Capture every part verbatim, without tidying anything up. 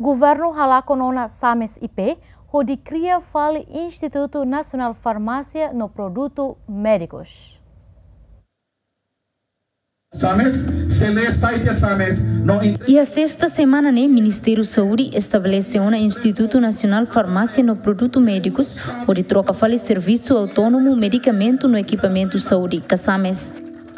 Governu halakon ona SAMES I P hodi kria fali Institutu Nasionál Farmásia no Produtu Médikus. SAMES, sele site SAMES, no in- Iha sesta semana ne'e, Ministériu Saúde estabelese ona Institutu Nasionál Farmásia no Produtu Médikus, hodi troka fali servisu autónomu medikamentu no ekipamentu saúde ka SAMES.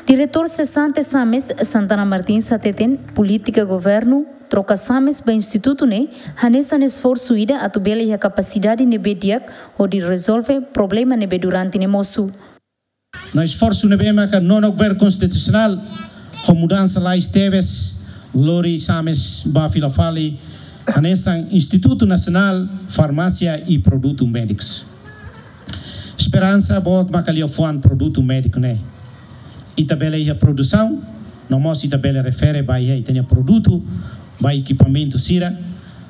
Diretór sesante SAMES, Santana Martins, hateten polítika governu troka SAMES ba institutu ne'e hanesan esforsu ida atu bele iha kapasidade ne'ebé di'ak hodi rezolve problema ne'ebé durante ne'e mosu. No esforsu ne'ebé maka nonu governu konstitusionál ho mudansa lais tebes lori SAMES ba fila fali hanesan Institutu Nasionál Farmásia i Produtu Médikus. Esperansa boot maka liafuan produtu médiku ne'e ita bele iha produsaun, no mós ita bele refere ba iha ita-nia produtu, ba ekipamentu sira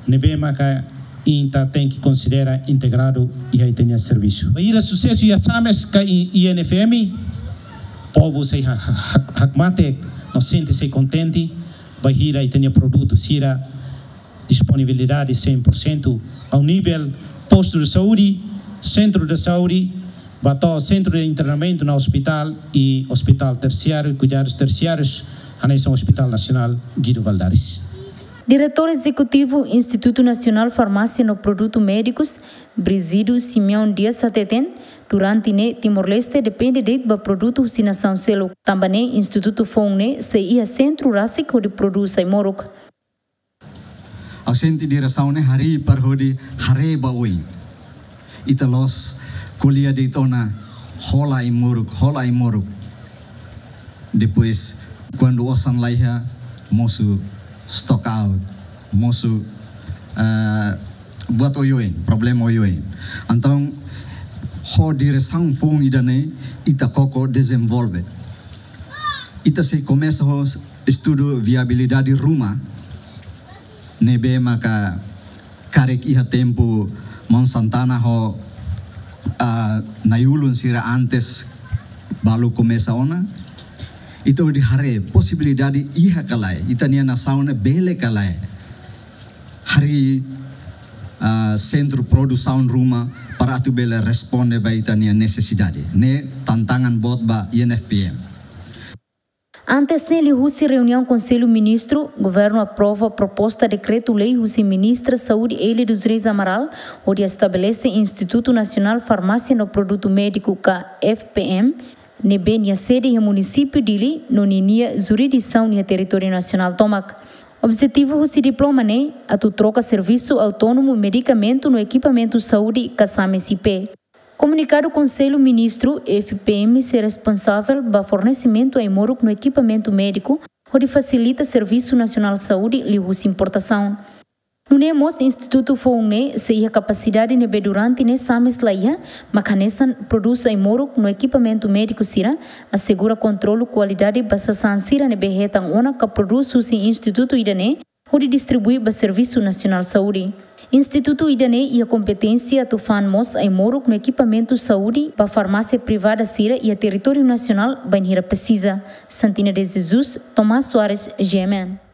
ne'ebé maka ita tenke konsidera integradu iha ita-nia servisu. Bainhira susesu iha SAMES ka I-, I N F M, povu sei ha-, ha-, ha-, hakmatek no sente sei kontente, bainhira ita-nia produtu sira disponibilidade cem por cento ao nível posto de saúde, centro de saúde, ba to'o centro de internamento no hospital i hospital tersiáriu, kuidadus tersiárius, hanesan Hospital Nasionál Guido Valadares. Diretór Ezekutivu Institutu Nasionál Farmásia no Produtu Médikus, Brígido Simeão Dias, hateten, durante ne'e Timor-Leste depende de'it ba produtu husi nasaun seluk. Tanba ne'e institutu foun ne'e sei iha sentru rasik hodi prodús ai-moruk. Ha'u sente diresaun ne'e harii para hodi haree ba oin. Ita la'ós ko'alia de'it ona hola ai-moruk, hola ai-moruk. Depois, kuandu osan laiha, mosu stock out, mosu, eh, buat oioin, problema oioin. Entaun, ho diresaun foun ida-ne'e, ita koko dezenvolve. Ita sei komesa ho estudu viabilidade ruma, ne'ebé maka karik iha tempu Maun Santana ho, ah, na'i-ulun sira antes balu komesa ona. Ita hodi haree posibilidade iha ka lae, ita-nia nasaun ne'e bele ka lae harii, ah, sentru produsaun ruma para atu bele responde ba ita-nia nesesidade. Ne'e tantangan boot ba I N F P M. Antes ne'e, liuhusi reuniaun Konsellu Ministru, governu aprova proposta dekretu-lei husi Ministra Saúde Élia dos Reis Amaral, hodi estabelese Institutu Nasionál Farmásia no Produtu Médiku ka F P M, ne'ebé nia sede iha munisípiu Dili, no ninia jurisdisaun iha territóriu nasionál tomak. Objetivu husi diploma ne'e atu troka servisu autónomu medikamentu no ekipamentu saúde ka SAMES I P. Komunikadu, Konsellu Ministru, F P M sei responsavel ba fornesimentu ai-moruk no ekipamentu médiku, hodi fasilita Servisu Nasionál Saúde liuhusi importasaun. Nune'e mós institutu foun ne'e sei iha kapasidade ne'ebé durante ne'e SAMES laiha, maka hanesan prodús ai-moruk no ekipamentu médiku sira, asegura kontrolu kualidade ba sasán sira ne'ebé hetan ona ka prodús husi institutu ida-ne'e, hodi distribui ba Servisu Nasionál Saúde. Institutu ida-ne'e iha kompeténsia atu fa'an mós ai-moruk no ekipamentu saúde ba farmásia privada sira iha territóriu nasionál bainhira presiza. Santina de Jesus, Tomás Soares, G M N.